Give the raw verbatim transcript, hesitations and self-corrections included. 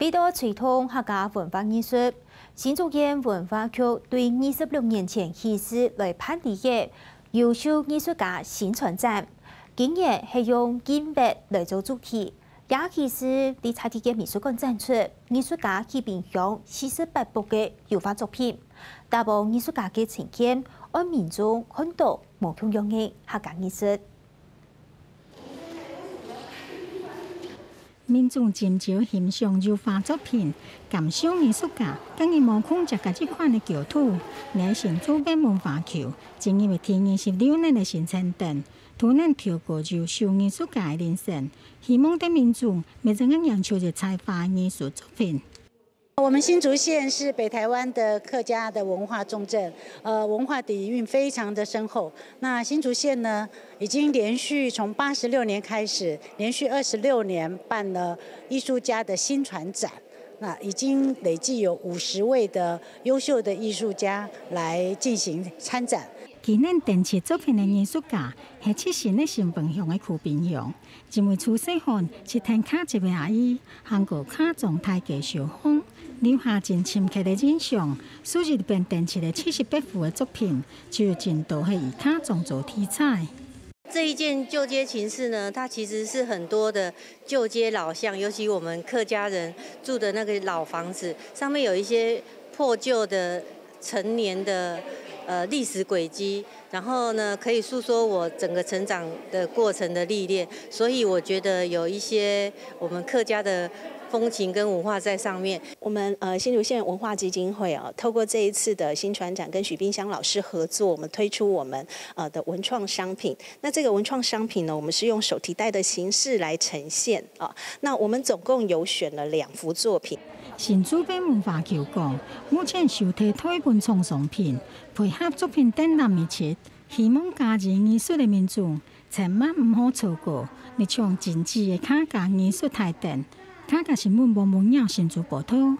為著推動客家文化藝術，新竹縣文化局對二十六年前起勢來辦理个優秀藝術家薪傳展，今年係用音樂來做主題，也起勢在在地个美術館展出藝術家徐冰香四十八幅个油畫作品，打破藝術家个成見，愛民眾看到無共樣个客家藝術。 民眾斟酌欣賞油畫作品，感受藝術家个人無空間个一款个角度，來新竹縣文化局，進入第二十六年个新春等，都能透過優秀藝術家个人生，希望對民眾每一個人有才華藝術作品。 我們新竹縣是北台灣的客家的文化重鎮，呃，文化底蘊非常的深厚。那新竹縣呢，已經連續從八十六年開始，連續二十六年辦了藝術家的薪傳展，那已經累計有五十位的優秀的藝術家來進行參展。今年展出作品个藝術家係七成个新分享个苦冰鄉， 因為自細漢就跈家族个阿姨行過客庄大街小巷，留下真深刻个印象，所以這擺展出个七十八幅个作品，就有真多係以客庄做題材。這一件舊街情事呢，它其實是很多的舊街老巷，尤其我們客家人住的那個老房子，上面有一些破舊的陳年的呃歷史軌跡，然後呢，可以訴說我整個成長的過程的歷練，所以我覺得有一些我們客家的風情跟文化在上面。我們呃新竹縣文化基金會哦，透過這一次的薪傳展跟徐冰香老師合作，我們推出我們呃的文創商品。那這個文創商品呢，我們是用手提袋的形式來呈現啊。那我們總共有選了兩幅作品。新竹縣文化局講，目前收提大文創商品，配合作品展覽日期，希望加入藝術个民眾，千萬毋好錯過這場精緻个客家藝術大展。客家新聞黃文耀新竹報導。